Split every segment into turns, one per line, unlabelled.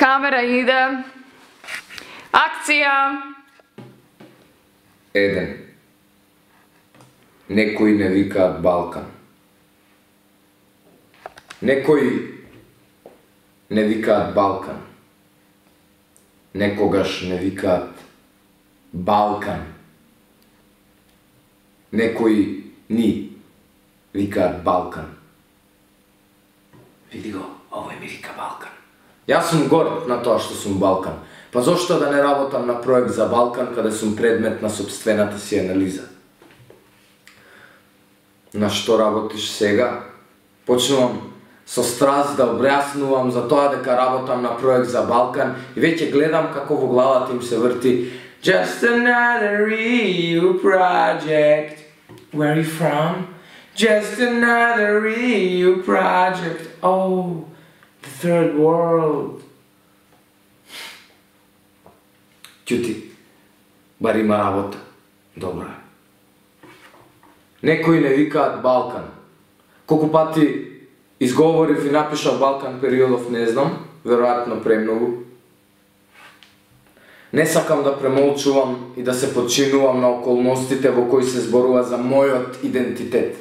Камера иде. Акција.
Еден. Некои не викаат Балкан. Некои не викаат Балкан. Некогаш не викаат Балкан. Некои ни викаат Балкан. Види го, овој ми вика Балкан. Јас сум горд на тоа што сум Балкан. Па зошто да не работам на проект за Балкан каде сум предмет на сопствената си анализа? На што работиш сега? Почнувам со страст да објаснувам за тоа дека работам на проект за Балкан и веќе гледам како во главата им се врти Just another EU project. Where are you from? Just another EU project. Oh, the third world. Ќути, бар има работа. Добро е. Некои не викаат Балкан. Колку пати изговорив и напишав Балкан периодов не знам, веројатно премногу. Не сакам да премолчувам и да се подчинувам на околностите во кои се зборува за мојот идентитет.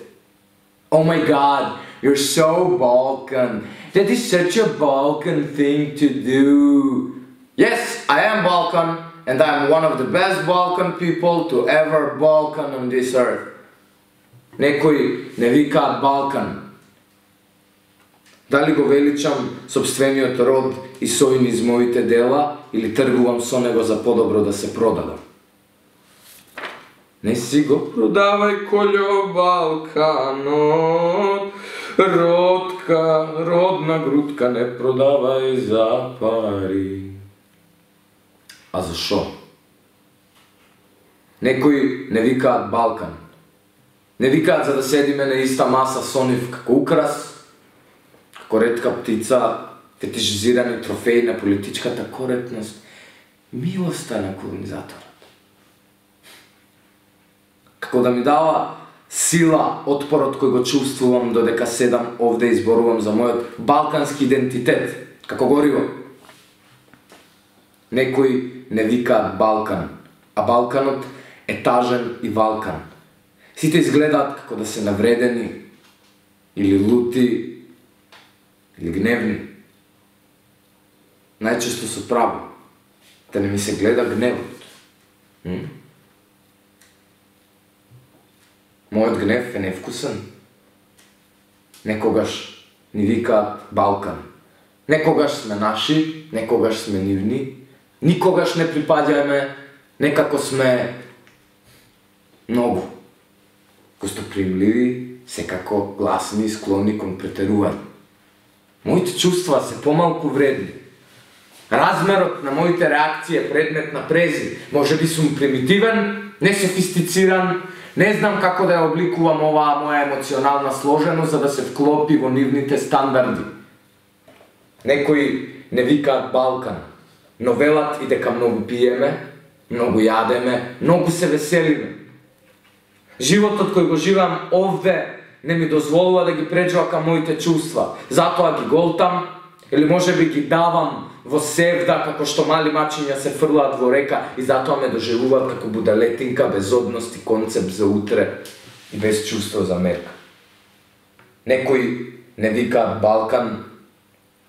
Oh my God, you're so Balkan. That is such a Balkan thing to do. Yes, I am Balkan, and I'm one of the best Balkan people to ever Balkan on this earth. Некои не викаат Балкан. Дали го величам сопствениот род и сој низ моите дела или тргувам со него за подобро да се продадам? Не си го продавај колјо Балканот, родна грудка не продавај за пари. А зашо? Некои не викаат Балкан. Не викаат за да седиме на иста маса со нив како украс, како ретка птица, фетишизирани трофеи на политичката коректност, милоста на колонизаторот. Како да ми дава сила отпорот кој го чувствувам додека седам овде и зборувам за мојот балкански идентитет, како гориво. Некои не викаат Балкан, а Балканот е тажен и валкан. Сите изгледаат како да се навредени, или лути, или гневни. Најчесто со право, да не ми се гледа гневот. Мојот гнев е невкусен. Некогаш ни викаат Балкан. Некогаш сме наши, некогаш сме нивни. Никогаш не припаѓаме, некако сме многу гостопримливи, секако гласни и склонни кон претерување. Моите чувства се помалку вредни. Размерот на моите реакции е предмет на презир. Може би сум примитивен, несофистициран, не знам како да ја обликувам оваа моја емоционална сложеност за да се вклопи во нивните стандарди. Некои не викаат Балкан, но велат и дека многу пиеме, многу јадеме, многу се веселиме. Животот кој го живеам овде не ми дозволува да ги преđувакам моите чувства, затоа ги голтам или можеби ги давам во севда како што мали мачиња се фрлаат во река и затоа ме доживуваат како будалетинка без одност и концепт за утре и без чувство за мерка. Некои не викаат Балкан,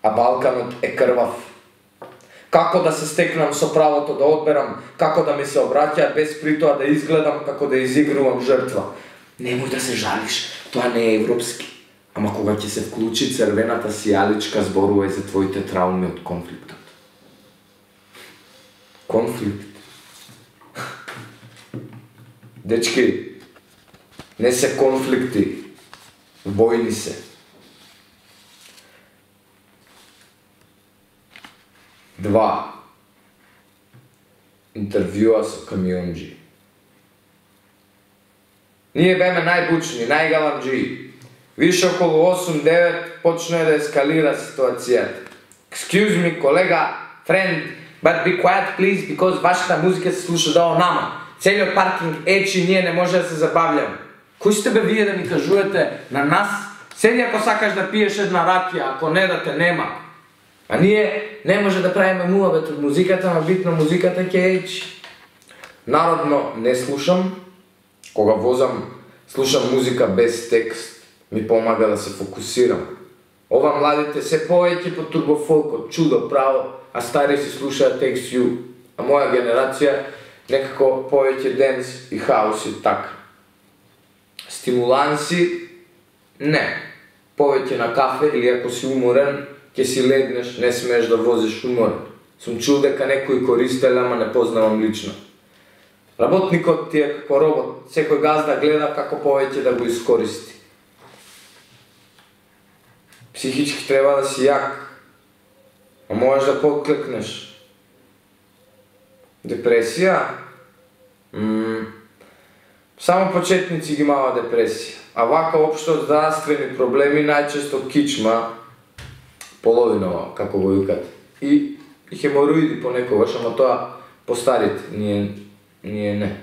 а Балканот е крвав. Како да се стекнам со правото да одберам, како да ми се обраќаат без притоа да изгледам како да изигрувам жртва. Немој да се жалиш, тоа не е европски. Ама кога ќе се вклучи црвената сијаличка, зборувај за твоите трауми од конфликтот. Конфликт. Дечки, не се конфликти, војни се. Два. Интервјуа со камионџи. Ние беме најбучни, најгаламџи. Више околу 8-9 почна да ескалира ситуацијата. Excuse me, колега, friend, but be quiet please, because вашата музика се слуша долу нама. Целиот паркинг ечи, ние не може да се забавljаме. Кој сте бе вие да ми кажувате на нас? Седи ако сакаш да пиеш една ракија, ако не да те нема. А ние не може да правиме муабет од музиката, ама битно музиката ќе ечи. Народно не слушам, кога возам, слушам музика без текст, ми помага да се фокусирам. Ова младите се повеќе по турбофолкот, чудо, право, а стари си слушаат XU, а моја генерација некако повеќе денс и хаус и така. Стимуланси? Не. Повеќе на кафе или ако си уморен, ќе си легнеш, не смееш да возиш уморен. Сум чул дека некои користеле, ама не познавам лично. Работникот ти е како робот, секој газда гледа како повеќе да го искористи. Психички треба да си јак, а можеш да поклекнеш. Депресија? Само почетници ги имаат депресија, а вака општо здравствени проблеми најчесто кичма, половинова, како го викат, и хемороиди понекогаш, ама тоа по старите, ние не.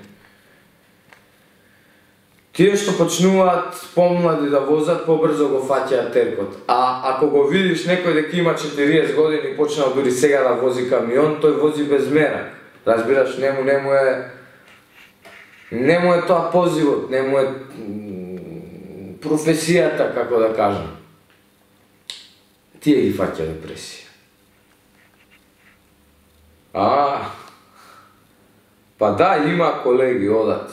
Тие што почнуваат помлади да возат, побрзо го фаќаат теркот. А ако го видиш некој дека има 40 години и почнал дури сега да вози камион, тој вози без мерак. Разбираш, не му е тоа позивот, не му е професијата, како да кажам. Тие ги фаќа депресија. Па да, има колеги одат.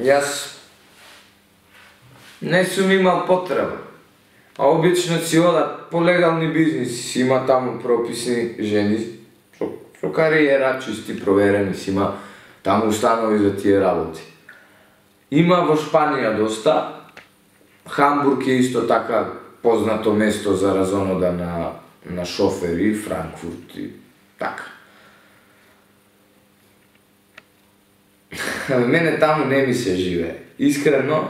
Јас не сум имал потреба. А обично си одат по легални бизниси, си има таму прописни жени, со кариера, чисти, проверени си има таму установи за тие работи. Има во Шпанија доста. Хамбург е исто така познато место за разонода на шофери, Франкфурт и така. Мене таму не ми се живее. Искрено,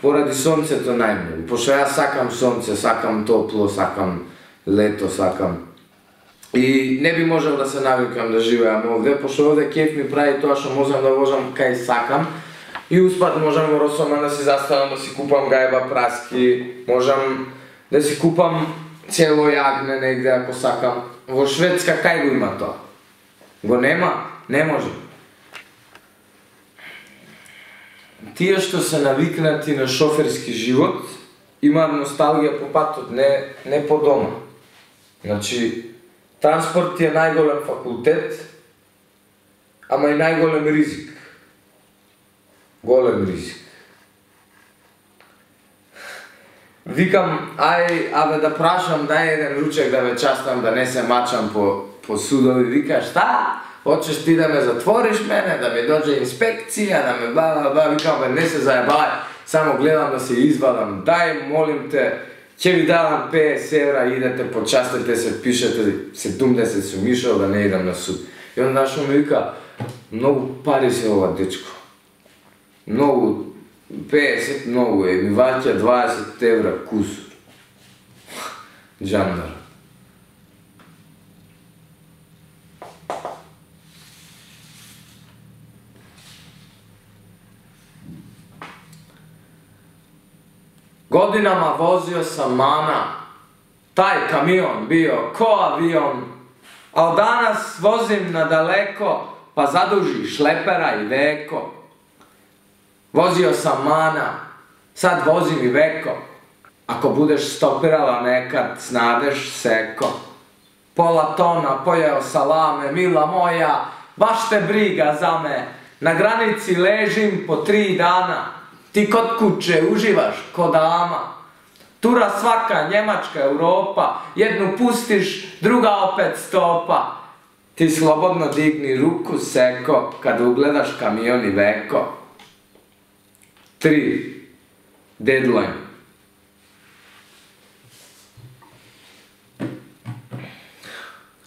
поради сонцето најмногу. Пошто јас сакам сонце, сакам топло, сакам лето, сакам. И не би можел да се навикам да живеам овде, пошто овде кеф ми прави тоа што можам да возам кај сакам. И успат можам во Росома да си застанам, да си купам гајба праски, можам да си купам цело јагне негде ако сакам. Во Шведска кај го има тоа? Го нема? Не може. Тие што се навикнати на шоферски живот, имаат носталгија по патот, не по дома. Значи, транспорт е најголем факултет, ама и најголем ризик. Голем ризик. Викам, абе да прашам, дај еден ручек да ме частам, да не се мачам по судови. Вика, шта? Хочеш ти да ме затвориш мене, да ми доđe инспекција, да ме бла. Викам, бе, не се заебај, само гледам да се извадам. Дај, молим те, ќе ви давам 50 евра, идете, почастете се, пишете 70 сум ишол да не идам на суд. И он нашо ми вика, многу пари се ова дечко. Многу, 50 многу е, ми ваќа 20 евра кусур. Джандар. Годинама возио сам мана, тај камион био ко авион, a od danas vozim nadaleko, pa zaduži šlepera i veko. Vozio sam mana, sad vozim i veko. Ako budeš stopirala nekad, snadeš seko. Pola tona pojeo salame, mila moja, baš te briga za me. Na granici ležim po 3 dana, ti kod kuće uživaš ko dama. Tura svaka, Njemačka, Europa, jednu pustiš, druga opet stopa. Ti slobodno digni ruku seko, kad ugledaš kamion i veko. 3. Deadline.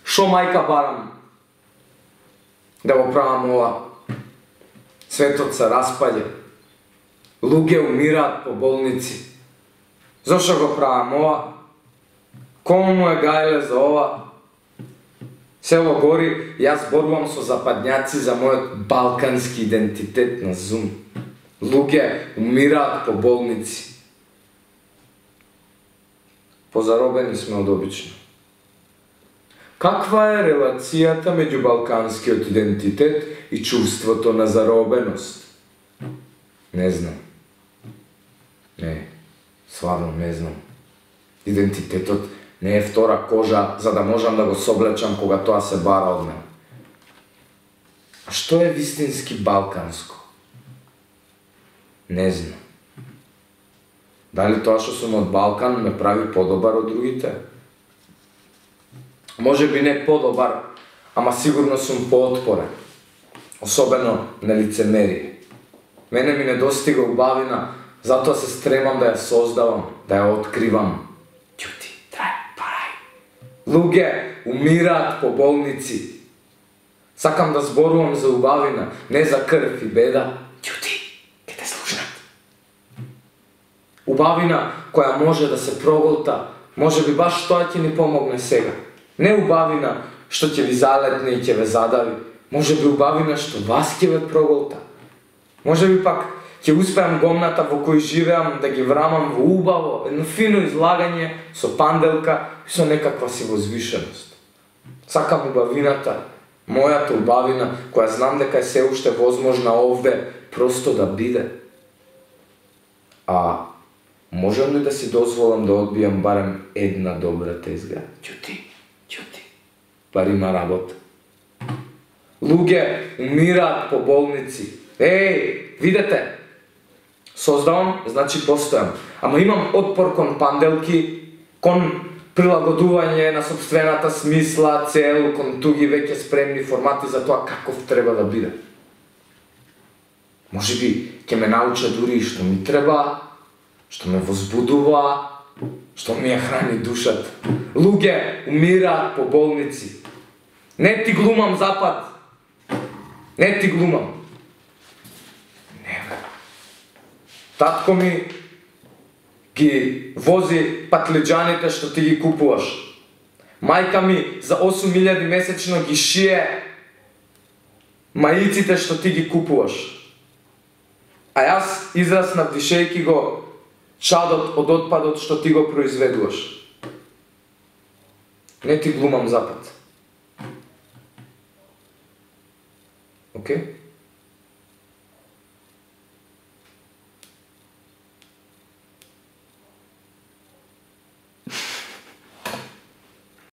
Šo majka baram, da opravam ova. Svetот se raspalje, luge umirat po bolnici. Zašto go pravam ova? Komu mu je gajle za ova? Selo gori, ja zborvam so zapadnjaci za moj balkanski identitet na Zoom. Luge umirat po bolnici. Pozarobeni smo od obično. Каква е релацијата меѓу балканскиот идентитет и чувството на заробеност? Не знам. Не, стварно не знам. Идентитетот не е втора кожа за да можам да го соблечам кога тоа се бара од мене. А што е вистински балканско? Не знам. Дали тоа што сум од Балкан ме прави подобар од другите? Може би не подобар, ама сигурно сум поотпорен. Особено на лицемерие. Мене ми недостига убавина, затоа се стремам да ја создавам, да ја откривам. Ќути, трај, парај. Луѓе умираат по болници. Сакам да зборувам за убавина, не за крв и беда. Ќути, ке те слушнат. Убавина која може да се проголта, може би баш тоа ќе ни помогне сега. Не убавина што ќе ви залетне и ќе ве задави, може би убавина што вас ќе ве проголта. Може би пак ќе успеам гомната во кој живеам да ги врамам во убаво, едно фино излагање со панделка и со некаква си возвишеност. Сакам убавината, мојата убавина, која знам дека е се уште возможна овде, просто да биде. А можам ли да си дозволам да одбијам барем една добра тезга? Ќути. Бар има работа. Луѓе умираат по болници. Видете, создавам, значи постојам. Ама имам отпор кон панделки, кон прилагодување на собствената смисла, цел, кон туги веќе спремни формати за тоа каков треба да биде. Може би ќе ме науча дури што ми треба, што ме возбудува, што ми ја храни душата. Луѓе умираат по болници. Не ти глумам Запад. Не ти глумам. Не, бе. Татко ми ги вози патлиџаните што ти ги купуваш. Мајка ми за 8.000 месечно ги шие маиците што ти ги купуваш. А јас израснав дишејки го чадот од отпадот што ти го произведуваш. Не ти глумам Запад. Окей?